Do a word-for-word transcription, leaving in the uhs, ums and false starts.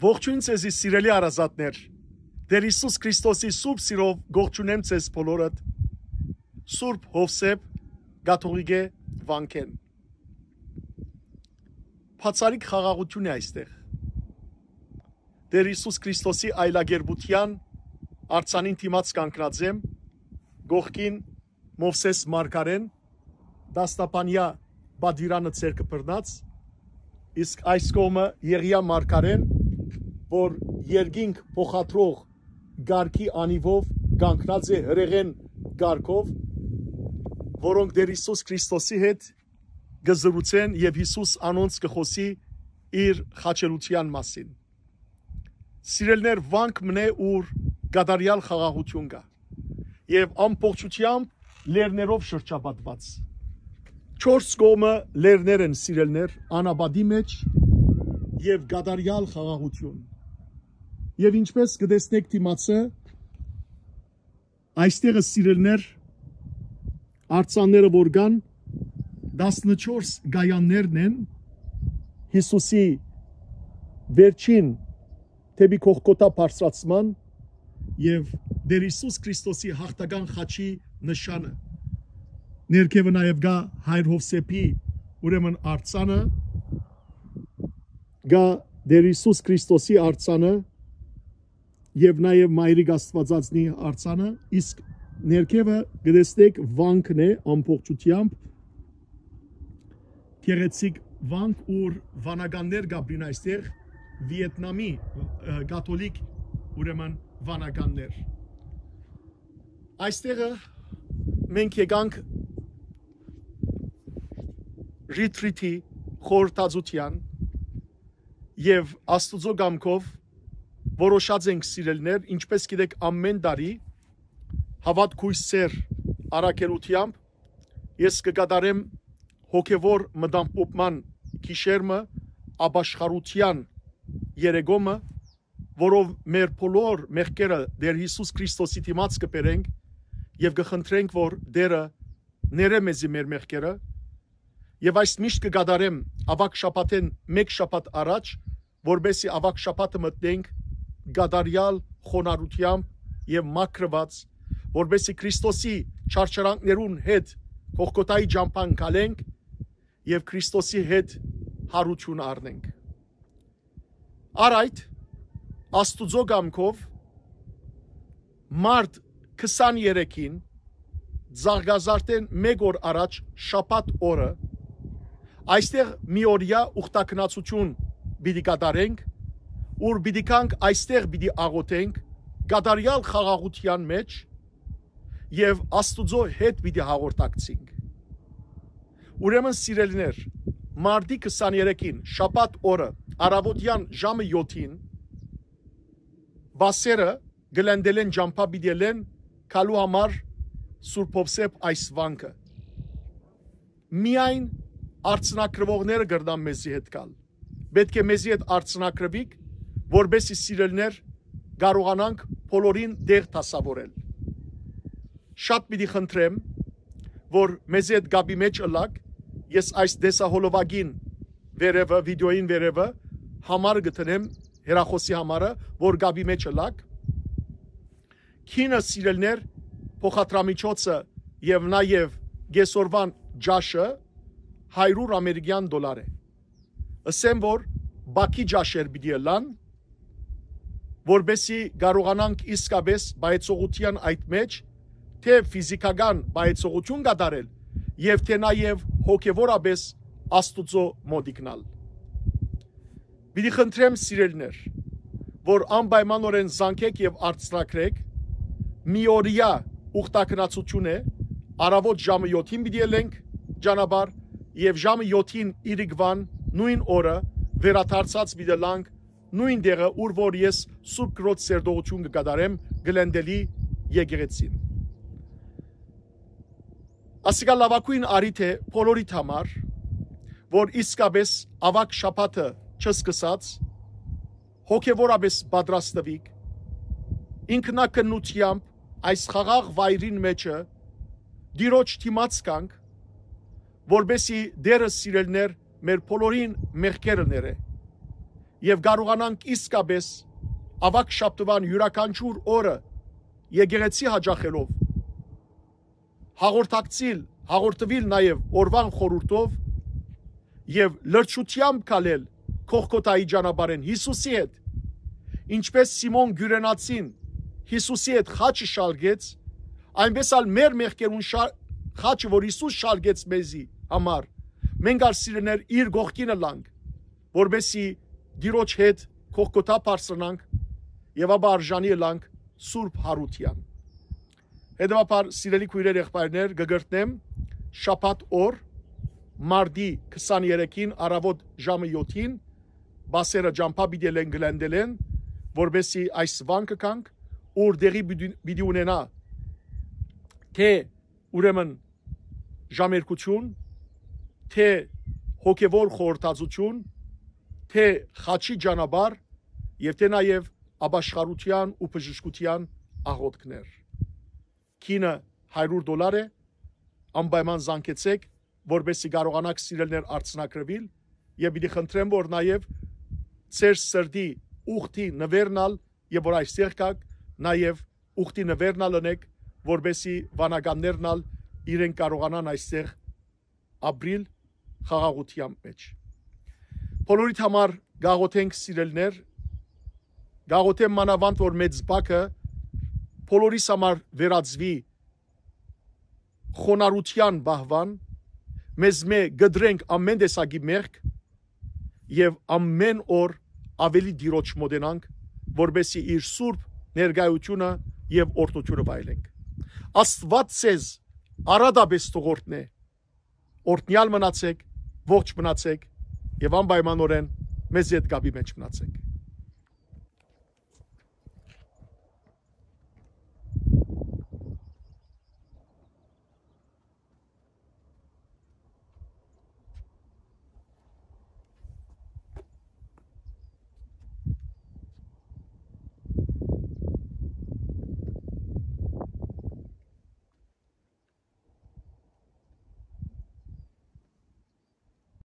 Ողջույն ձեզի, սիրելի հարազատներ։ Տեր Յիսուս Քրիստոսի սուրբ սիրով կողջունեմ ձեզ բոլորդ Սուրբ Յովսէփ կաթողիկէ վանքէն։ Բացառիկ խաղաղութիւն է այստեղ։ Տեր Յիսուս Քրիստոսի այլակերպութեան արձանին դիմաց կանգնած եմ, կողքին Մովսէս մարգարէն, դաստապանեայ պատուիրանը ձեռքը բռնած, իսկ այս կողմը Եղիա մարգարէն, որ երկինք փոխադրող կարգի անիվով կանգնած է հրեղեն կարգով, որոնք Տեր Յիսուս Քրիստոսի հետ կը զրուցեն եւ Յիսուս անոնց կը խօսի իր խաչելութեան մասին։ Սիրելիներ, վանք մնե, ուր կատարեալ խաղաղութիւն կայ եւ ամբողջութեամբ լեռներով շրջապատուած։ Չորս կողմը լեռներ են, սիրելիներ, անապատի մէջ, եւ կատարեալ խաղաղութիւն։ Եւ ինչպես կը տեսնէք դիմացը, այստեղը, սիրելիներ, արձանները որ կան, տասնչորս կայաններն են Յիսուսի վերջին դէպի Գողգոթա բարձրացման եւ Տեր Յիսուս Քրիստոսի յաղթական խաչի նշանը։ Ներքեւը նաեւ կայ Հայր Յովսէփի, ուրեմն, արձանը, կայ Տեր Յիսուս Քրիստոսի արձանը եւ նաեւ Մայրիկ Աստուածածնի արձանը, իսկ ներքեւը կը տեսնէք վանքն է ամբողջութեամբ, գեղեցիկ վանք, ուր վանականներ կ'ապրին այստեղ, Վիետնամի, ը, կաթոլիկ, ուրեմն, վանականներ։ Այստեղը մենք եկանք Ռիթրիթի խորհրդածութեան եւ Աստուծոյ կամքով որոշած ենք, սիրելիներ, ինչպես գիտէք, ամէն տարի Հաւատք, Կոյս, Սէր առաքելութեամբ ես կը կատարեմ հոգեվոր մտամբոպման գիշեր մը, ապաշխարութեան երեկո մը, որով մեր բոլոր մեղքերը Տեր Յիսուս Քրիստոսի դիմաց կը բերենք եւ կը խնդրենք, որ Տերը ներէ մեզի մեր մեղքերը, եւ այս միշտ կը կատարեմ աւագ շաբաթէն մէկ շաբաթ առաջ, որպէսզի աւագ շաբաթը մտնենք կատարեալ խոնարհութեամբ եւ մաքրուած, որպէսզի Քրիստոսի չարչարանքներուն հետ Գողգոթայի ճամբան քալենք եւ Քրիստոսի հետ յարութիւն առնենք։ Առ այդ, Աստուծոյ կամքով, մարտ քսաներեքին, Ծաղկազարդէն մէկ օր առաջ, շաբաթ օրը, այստեղ մի օրեայ ուխտագնացութիւն պիտի կատարենք, ուր պիտի գանք, այստեղ պիտի աղօթենք, կատարեալ խաղաղութեան մէջ, եւ Աստուծոյ հետ պիտի հաղորդակցենք։ Ուրեմն, սիրելիներ, մարտի քսաներեքին, շաբաթ օրը, առաւօտեան ժամը յոթին, վասերը գլենդելեն ճամբայ պիտի ելեն գալու համար Սուրբ Յովսէփ այս վանքը։ Միայն արձանագրուողները կրնան մեզի հետ գալ։ Պէտք է մեզի հետ արձանագրուիք, որպէսզի, սիրելիներ, կարողանանք բոլորին տեղ դասաւորել։ Շատ պիտի խնդրեմ, որ մեզի հետ կապի մէջ ըլլաք, ես այս տեսահոլովակին վերեւը, վիդեոյին վերեւը համար կը դնեմ, հեռախօսի համարը, որ կապի մէջ ըլլաք։ Քինը, սիրելիներ, փոխադրամիջոցը եւ նաեւ կեսօրուան ճաշը հարիւր ամերիկեան դոլար է։ Ըսեմ, որ բակի ճաշեր պիտի ըլլան, որպէսզի կարողանանք իսկապէս պայծողութեան այդ մէջ թէ ֆիզիքական պայծողութիւն կատարել եւ թէ նաեւ հոգեվորապէս Աստուծոյ մօտիկնալ։ Պիտի խնդրեմ, սիրելիներ, որ անպայմանօրէն զանգէք եւ արձանագրէք, մի օրեայ ուխտագնացութիւն է, առաւօտ ժամը յոթին պիտի ելենք ճանապարհ եւ ժամը յոթին իրիկվան նոյն օրը վերադարձած պիտի ըլլանք նոյն տեղը, ուր որ ես Սուրբ Կրոջ սերտողութիւն կը կատարեմ Գլենդելի եկեղեցին։ Ասիկա լաւագոյն առիթ է բոլորիդ համար, որ իսկապէս աւագ շաբաթը չսկսած, հոգեվորապէս պատրաստուիք, ինքնակնութեամբ այս խաղաղ վայրին մէջը Տիրոջ դիմաց գանք, որպէսզի Տերը, սիրելիներ, մեր բոլորին մեղքերը ներէ եւ կարողանանք իսկապէս աւագ շաբթուան իւրաքանչիւր օրը եկեղեցի յաճախելով, հաղորդակցիլ, հաղորդուիլ նաեւ օրուան խորհուրդով եւ լրջութեամբ քալել Գողգոթայի ճանապարհէն Յիսուսի հետ, ինչպէս Սիմոն Կիւրենացին Յիսուսի հետ խաչը շալկեց, այնպէս ալ մեր մեղքերուն շա-, խաչը, որ Յիսուս շալկեց մեզի համար, մենք ալ, սիրելիներ, իր կողքին ըլլանք, որպեսզի Տիրոջ հետ Գողգոթա բարձրանանք եւ ապա արժանի ըլլանք Սուրբ Յարութեան։ Հետեւաբար, սիրելի քոյրեր, եղբայրներ, կը կրկնեմ, շաբաթ օր, մարտի քսաներեքին, առաւօտ ժամը յոթին, բասերը ճամբայ պիտի ելեն, գլենդելեն, որպեսզի այս վանքը գանք, ուր տեղի պիտի, պիտի ունենայ թէ, ուրեմն, ժամերգութիւն, թէ հոգեւոր խորհրդածութիւն, թէ խաչի ճանապարհ եւ թէ նաեւ ապաշխարութեան ու բժշկութեան աղօթքներ։ Գինը հարիւր դոլար է, անպայման զանգեցէք, որպեսզի կարողանաք, սիրելիներ, արձանագրուիլ, եւ պիտի խնդրեմ, որ նաեւ ձեր սրտի ուխտի նուէրն ալ, եւ որ այստեղ գաք, նաեւ ուխտի նուէրն ալ ընէք, որպեսզի վանականներն ալ իրենք կարողանան այստեղ ապրիլ խաղաղութեան մէջ։ Բոլորիդ համար կաղոթենք, սիրելիներ, կաղոթեմ մանաւանդ, որ մեծ բակը բոլորիս համար վերածուի խոնարհութեան պահուան, մեզմէ կտրենք ամէն տեսակի մեղք եւ ամէն օր աւելի Տիրոջ մօտենանք, որպեսզի իր սուրբ ներկայութիւնը եւ օրհնութիւնը վայելենք։ Աստուած ձեզ առատապէս թող օրհնէ, օրհնեալ մնացէք, ողջ մնացէք եւ անպայմանօրէն մեզի հետ կապի մէջ մնացէք։